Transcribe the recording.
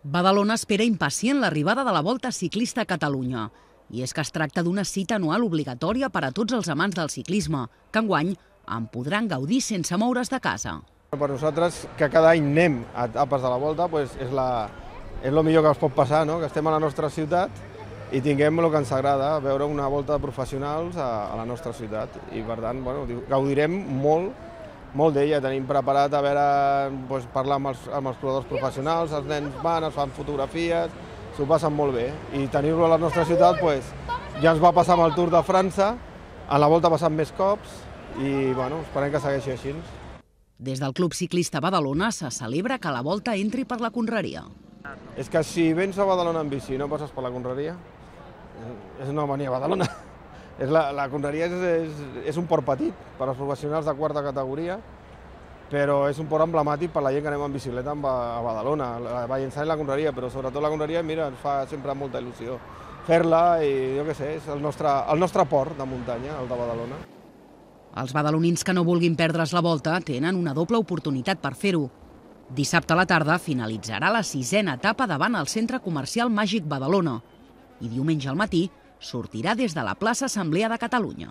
Badalona espera impacient l'arribada de la Volta Ciclista a Catalunya. I és que es tracta d'una cita anual obligatòria per a tots els amants del ciclisme, que enguany en podran gaudir sense moure's de casa. Per nosaltres, que cada any anem a etapes de la Volta, és el millor que ens pot passar, no? Que estem a la nostra ciutat i tinguem el que ens agrada, veure una volta de professionals a la nostra ciutat. I per tant, gaudirem molt d'ella. Tenim preparat a veure, parlar amb els corredors professionals, els nens van, es fan fotografies, s'ho passen molt bé. I tenir-lo a la nostra ciutat ja ens va passar amb el Tour de França, a la Volta ha passat més cops i esperem que segueixi així. Des del Club Ciclista Badalona se celebra que la Volta entri per la Conreria. És que si vens a Badalona en bici i no passes per la Conreria, és no venir a Badalona. La Conreria és un port petit per als professionals de quarta categoria, però és un port emblemàtic per la gent que anem en bicicleta a Badalona, a Vallençana i la Conreria, però sobretot la Conreria, mira, ens fa sempre molta il·lusió fer-la i jo què sé, és el nostre port de muntanya, el de Badalona. Els badalonins que no vulguin perdre's la Volta tenen una doble oportunitat per fer-ho. Dissabte a la tarda finalitzarà la 6a etapa davant el Centre Comercial Màgic Badalona i diumenge al matí sortirà des de la plaça Assemblea de Catalunya.